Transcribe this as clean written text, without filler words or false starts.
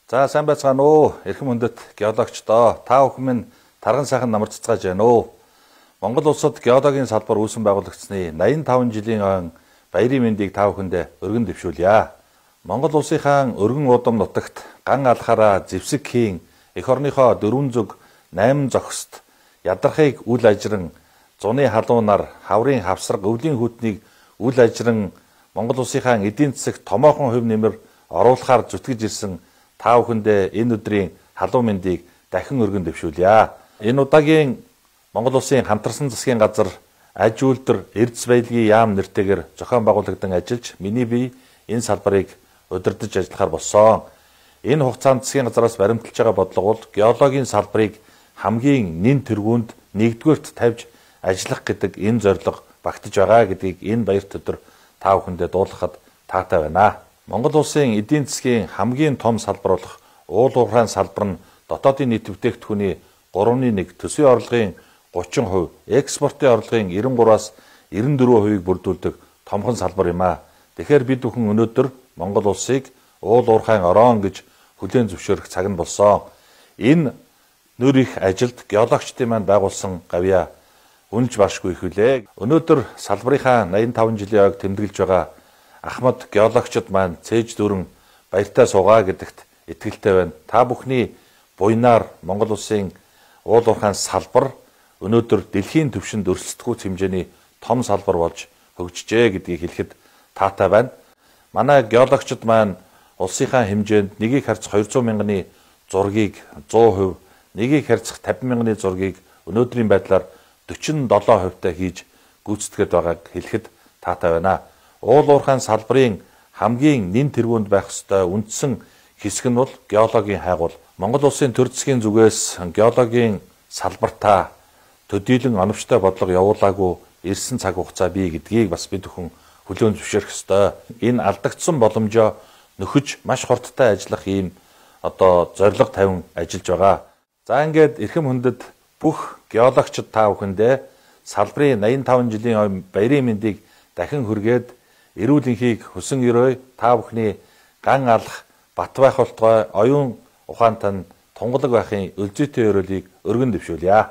За сайн байцгаана уу. Эрхэм хүндэт геологчдоо та бүхэн минь тарган сайхан намар цацгааж байна уу. Монгол улсад геологийн салбар үүсгэн байгуулагдсны 85 жилийн ойн баярын мэндийг та бүхэндээ өргөн дэвшүүлье. Монгол улсынхаа өргөн удам нутагт ган алхаараа зэвсэг хийн эх орныхоо 4 зүг 8 зохист ядархыг үл ажран зуны халуунаар хаврын хавсраг өвлийн хүтнийг үл ажран Монгол улсынхаа эдийн засагт томоохон хувь нэмэр оруулахаар зүтгэж ирсэн та бүхэндээ энэ өдрийн халуун мэндийг дахин өргөн дэвшүүлье. Энэ удаагийн Монгол улсын хамтарсан засгийн газар аж үйлдвэр эрдэс баялагын яам нэртэйгээр зохион байгуулагдан ажиллаж миний бие энэ салбарыг удирдах ажиллахаар болсон. Энэ хугацаанд засгийн газараас баримталж байгаа бодлого бол геологийн салбарыг хамгийн нэн тэргуунд нэгдүгээрт тавьж ажиллах гэдэг энэ зорилго багтаж байгаа гэдгийг энэ баярт өдөр та бүхэндээ дуулгахад таатай байна. Монгол улсын эдийн засгийн хамгийн том салбар болох уул уурхайн салбар нь дотоодын нийт бүтээгдэхүүний 3.1, төсвийн орлогын 30%, экспортын орлогын 93-аас 94%-ийг бүрдүүлдэг томхон салбар юм а. Тэгэхээр бид бүхэн өнөөдөр Монгол улсыг уул уурхайн орон гэж хүлээн зөвшөөрөх цаг нь болсон. Энэ нөр их ажилд геологчдын маань байгуулсан гавья үнэлж башгүй их үлээ. Өнөөдөр салбарынхаа 85 жилийн ойг тэмдэглэж байгаа Ахмад геологчид маань цээж дүүрэн баяртай суугаа гэдэгт итгэлтэй байна. Та бүхний буйнаар Монгол улсын уул уурхайн салбар өнөөдөр дэлхийн түвшинд өрсөлдөхүйц хэмжээний том салбар болж хөгжижээ гэдгийг хэлэхэд таатай байна. Манай геологчид маань улсынхаа хэмжээнд нэгийг харьцах 200 мянганы зургийг 100%, нэгийг харьцах 50 мянганы зургийг өнөөдрийн байдлаар 47%-тай хийж гүйцэтгэж байгааг хэлэхэд таатай байна. Уул уурхайн салбарын хамгийн нэн тэргуунд байх ёстой үндсэн хэсэг нь бол геологийн хайгуул. Монгол улсын төр засгийн зүгээс геологийн салбартаа төдийлөн оновчтой бодлого явуулаагүй ирсэн цаг хугацаа бий гэдгийг бас бид бүхэн хүлээн зөвшөөрөх ёстой. Энэ алдагдсан боломжоо нөхөж маш хурдтай ажиллах ийм зорилго тавин ажиллаж байгаа. За ингээд эрхэм хүндэт бүх геологчид та бүхэндээ салбарын 85 жилийн ойн баярын мэндийг дахин хүргээд эрүүл энхийг хүсэн өрөө та бүхний ган алах, бат байх болтугай оюун ухаантай тунгалаг байхын өлзийтэй өрөөлийг өргөн дэвшүүлье.